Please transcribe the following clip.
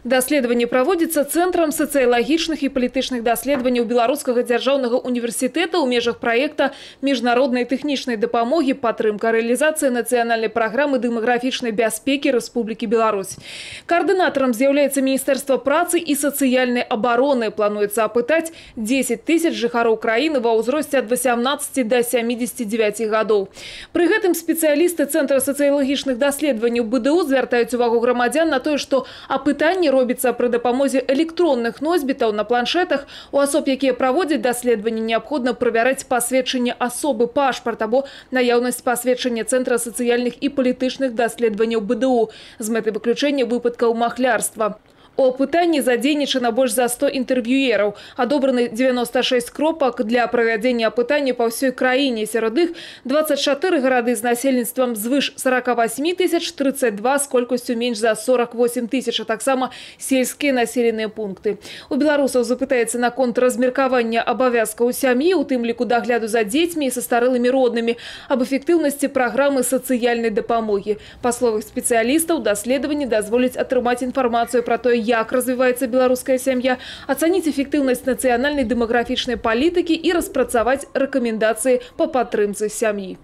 Даследаванне праводзіцца Цэнтрам сацыялагічных і палітычных даследаванняў Беларускага дзяржаўнага універсітэта ў межах праекта міжнароднай тэхнічнай дапамогі падтрымка рэалізацыі нацыянальнай праграмы дэмаграфічнай бяспекі Рэспублікі Беларусь. Коордынатором з'яўляецца Міністэрства працы і сацыяльнай абароны. Плануецца апытаць 10 тысяч жыхароў краіны ва ўзросце ад 18 до 79 гадоў. Пры гэтым спецыялісты Цэнтра сацыялагічных даследаванняў БДУ звяртаюць увагу грамадзян на тое, што апытанне робіцца пры дапамозе электронных носьбітаў на планшетах. У асоб, якія праводзяць даследаванне, неабходна правяраць пасведчанне асобы, пашпарт або наяўнасць пасведчання Цэнтра сацыяльных і палітычных даследаванняў БДУ з мэтай выключэння выпадкаў махлярства. У апытанні задзейнічана больш за 100 інтэрв'юераў. Адобраны 96 кропак для правядзення апытання па ўсёй краіне. Сярод іх 24 гарады з насельніцтвам звыш 48 тысяч, 32 з колькасцю менш за 48 тысяч, а таксама сельскія населеныя пункты. У беларусаў запытаецца наконт размеркавання абавязкаў сям'і, у тым ліку дагляду за дзецьмі і са старэлымі роднымі, аб эфектыўнасці праграмы сацыяльнай дапамогі. Па словах спецыялістаў, даследаванні дазволяць атрымаць інфармацыю пра тое, як развіваецца беларуская сям'я, ацаніць эфектыўнасць нацыянальнай дэмаграфічнай палітыкі і распрацаваць рэкамендацыі па падтрымцы сям'і.